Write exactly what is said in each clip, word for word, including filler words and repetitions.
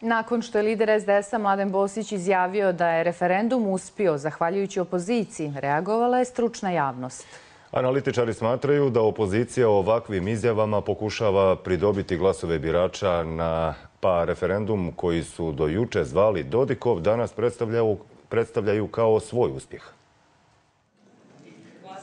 Nakon što je lider es de es-a Mladen Bosić izjavio da je referendum uspio zahvaljujući opoziciji, reagovala je stručna javnost. Analitičari smatraju da opozicija ovakvim izjavama pokušava pridobiti glasove birača na pa referendum koji su do juče zvali Dodikov danas predstavljaju, predstavljaju kao svoj uspjeh.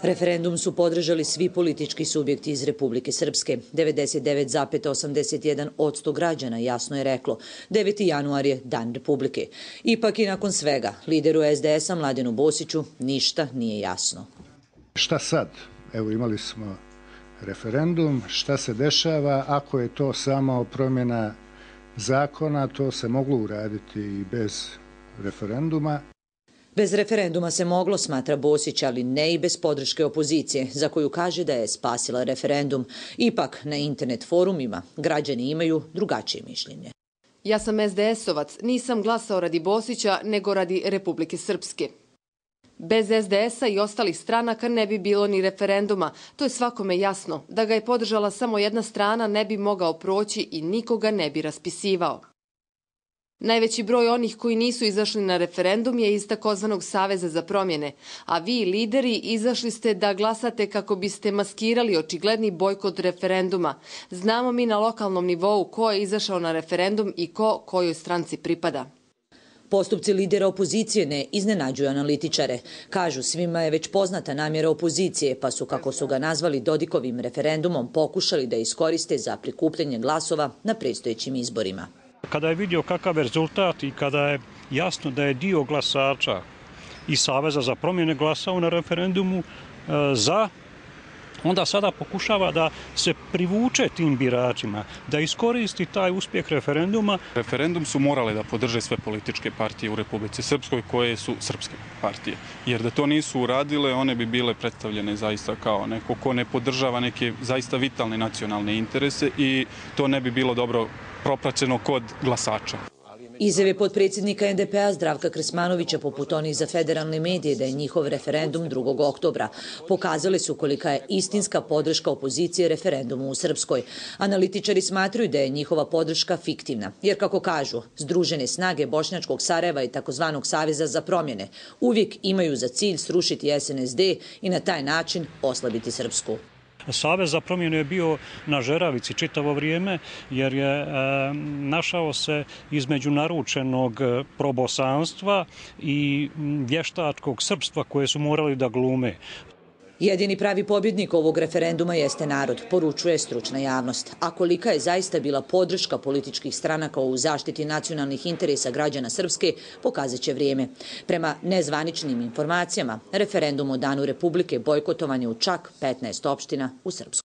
Referendum su podržali svi politički subjekti iz Republike Srpske. devedeset devet zarez osamdeset jedan posto građana jasno je reklo. deveti januar je dan Republike. Ipak i nakon svega, lideru es de es-a Mladenu Bosiću ništa nije jasno. Šta sad? Evo, imali smo referendum. Šta se dešava? Ako je to samo promjena zakona, to se moglo uraditi i bez referenduma. Bez referenduma se moglo, smatra Bosić, ali ne i bez podrške opozicije, za koju kaže da je spasila referendum. Ipak, na internet forumima građani imaju drugačije mišljenje. Ja sam es de es-ovac, nisam glasao radi Bosića, nego radi Republike Srpske. Bez es de es-a i ostalih stranaka ne bi bilo ni referenduma. To je svakome jasno. Da ga je podržala samo jedna strana ne bi mogao proći i nikoga ne bi raspisivao. Najveći broj onih koji nisu izašli na referendum je iz takozvanog Saveza za promjene, a vi, lideri, izašli ste da glasate kako biste maskirali očigledni bojkot referenduma. Znamo mi na lokalnom nivou ko je izašao na referendum i ko kojoj stranci pripada. Postupci lidera opozicije ne iznenađuju analitičare. Kažu, svima je već poznata namjera opozicije, pa su, kako su ga nazvali, Dodikovim referendumom pokušali da iskoriste za prikupljanje glasova na predstojećim izborima. Kada je vidio kakav je rezultat i kada je jasno da je dio glasača iz Saveza za promjene glasao na referendumu za, onda sada pokušava da se privuče tim biračima, da iskoristi taj uspjeh referenduma. Referendum su morale da podrže sve političke partije u Republici Srpskoj koje su srpske partije. Jer da to nisu uradile, one bi bile predstavljene zaista kao neko ko ne podržava neke zaista vitalne nacionalne interese i to ne bi bilo dobro propraćeno kod glasača. Izjave potpredsjednika en de pe-a Zdravka Krsmanovića, poput onih za federalne medije, da je njihov referendum drugog oktobra, pokazale su kolika je istinska podrška opozicije referendumu u Srpskoj. Analitičari smatruju da je njihova podrška fiktivna, jer, kako kažu, Združene snage Bošnjačkog Sarajeva i takozvanog Saveza za promjene uvijek imaju za cilj srušiti es en es de i na taj način oslabiti Srpsku. Savez za promjenu je bio na žeravici čitavo vrijeme jer je e, našao se između naručenog probosanstva i vještačkog srpstva koje su morali da glume. Jedini pravi pobjednik ovog referenduma jeste narod, poručuje stručna javnost. A kolika je zaista bila podrška političkih stranaka u zaštiti nacionalnih interesa građana Srpske, pokazat će vrijeme. Prema nezvaničnim informacijama, referendum o Danu Republike bojkotovan je u čak petnaest opština u Srpskoj.